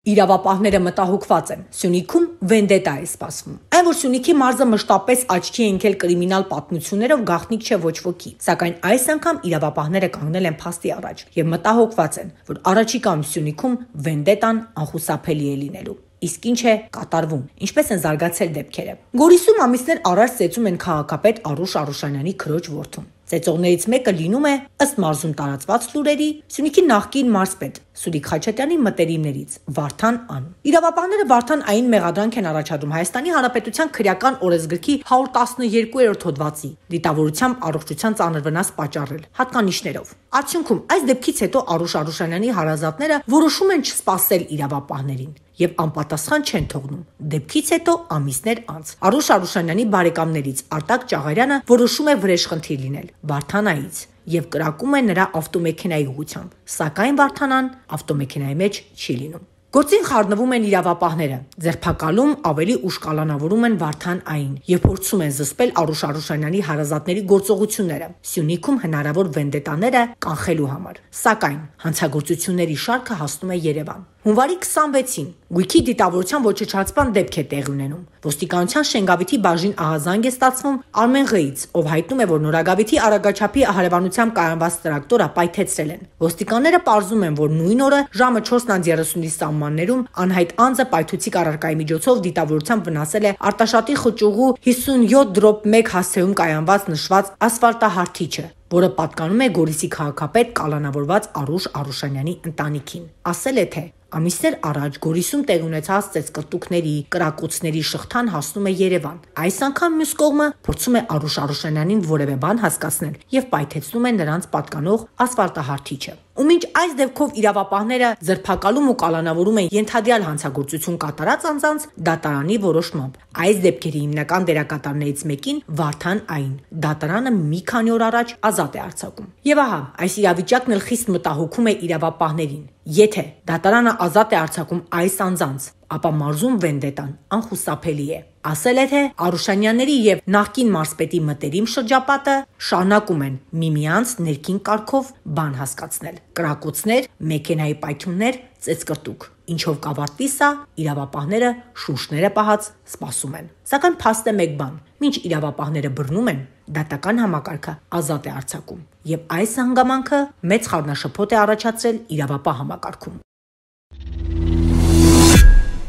Իրավապահները մտահոգված են, Սյունիքում վենդետա է սպասվում։ Այն, որ Սյունիքի մարզը մշտապես աչքի է ընկել կրիմինալ պատմություններով, գաղտնիք չէ ոչ ոքի, սակայն այս անգամ իրավապահները կանգնել են փաստի առաջ եւ մտահոգված են, որ առաջիկայում Սյունիքում վենդետան անխուսափելի է լինելու։ Իսկ ինչ է կատարվում, ինչպես են զարգացել դեպքերը։ Գորիսում ամիսներ առաջ ծեծում են քաղաքապետ Արուշ Արուշանյանի քրոջ որդուն։ Ծեծողներից մեկը լինում է, ըստ մարզում տարածված լուրերի, Սյունիքի նախկին մարզպետ Սուրիկ Խաչատյանի մտերիմներից Վարդան Ան։ Իրավապահները Վարդան Այն մեղադրանք են առաջադրում Հայաստանի Հանրապետության քրեական օրենսգրքի 112-րդ հոդվածի դիտավորությամբ առողջության ծանր վնաս պատճառել հատկանիշներով։ Արդյունքում այս դեպքից հետո Արուշ Արուշանյանի հարազատները որոշում են չսպասել իրավապահներին եւ անպատասխան չեն թողնում։ Դեպքից հետո ամիսներ անց Արուշ Արուշանյանի բարեկամներից Արտակ Ճաղարյանը որոշում է վրեժխնդիր լինել Վարդանայից եւ կրակում է նրա ավտոմեքենայի ուղղությամբ, սակայն Վարդանան ավտոմեքենայի մեջ չի լինում։ Գործին խառնվում են իրավապահները, ձերբակալում ավելի ուշ կալանավորում են Վարդան Այն եւ փորձում են զսպել Արուշ Արուշանյանի հարազատների գործողությունները Սյունիքում հնարավոր վենդետաները կանխելու համար։ Սակայն հանցագործությունների շարքը հասնում է Երևան։ Հունվարի 26-ին գույքի դիտավորության ոչնչացման դեպք է տեղի ունենում։ Ոստիկանության Շենգավիթի բաժին ահազանգ է ստացվում Արմեն Ղ-ից, ով հայտնում է, որ Նորագավիթի արագաչափի հարևանությամբ կայանված տրակտորը պայթեցրել են։ Ոստիկանները պարզում են, որ նույն օրը ժամը 4:30-ի սահմաններում անհայտ անձը պայթուցիկ առարկայի միջոցով դիտավորությամբ վնասել է Արտաշատի խճուղու 57/1 հասցեում կայանված նշված ասֆալտահարթիչը, որը պատկանում է Գորիսի քաղաքապետ կալանավորված Արուշ Արուշանյանի ընտանիքին։ Ասել է, թե ամիսներ առաջ Գորիսում տեղ ունեցած ծեծկտուկների, կրակոցների շղթան հասնում է Երևան։ Այս անգամ մյուս կողմը փորձում է Արուշ Արուշանյանին որևէ բան հասկացնել եւ պայթեցնում է նրանց պատկանող ասֆալտահարթիչը։ Ու մինչ այս դեպքով իրավապահները ձերբակալում ու կալանավորում են ենթադրյալ հանցագործություն կատարած անձանց, դատարանի որոշմամբ այս դեպքերի հիմնական դերակատարներից մեկին Վարդան Այն դատարանը մի քանի օր առաջ ազատ է արձակում։ Եվ ահա, այս իրավիճակն էլ խիստ մտահոգում է իրավապահներին։ Եթե դատարանը ազատ է արձակում այս անձանց, ապա մարզում վենդետան անխուսափելի է։ Ասել է, թե Արուշանյանների եւ նախկին մարզպետի մտերիմ շրջապատը շարունակում են միմյանց ներքին կարգով բան հասկացնել։ Կրակոցներ, մեքենայի պայթյուններ, ծեծկրտուկ։ Ինչով կավարտվի սա, իրավապահները շունչները պահած սպասում են։ Սակայն փաստ է մեկ բան. մինչ իրավապահները բռնում են, դատական համակարգը ազատ է արձակում։ Եվ այս հանգամանքը մեծ խառնաշփոթ է առաջացրել իրավապահ համակարգում։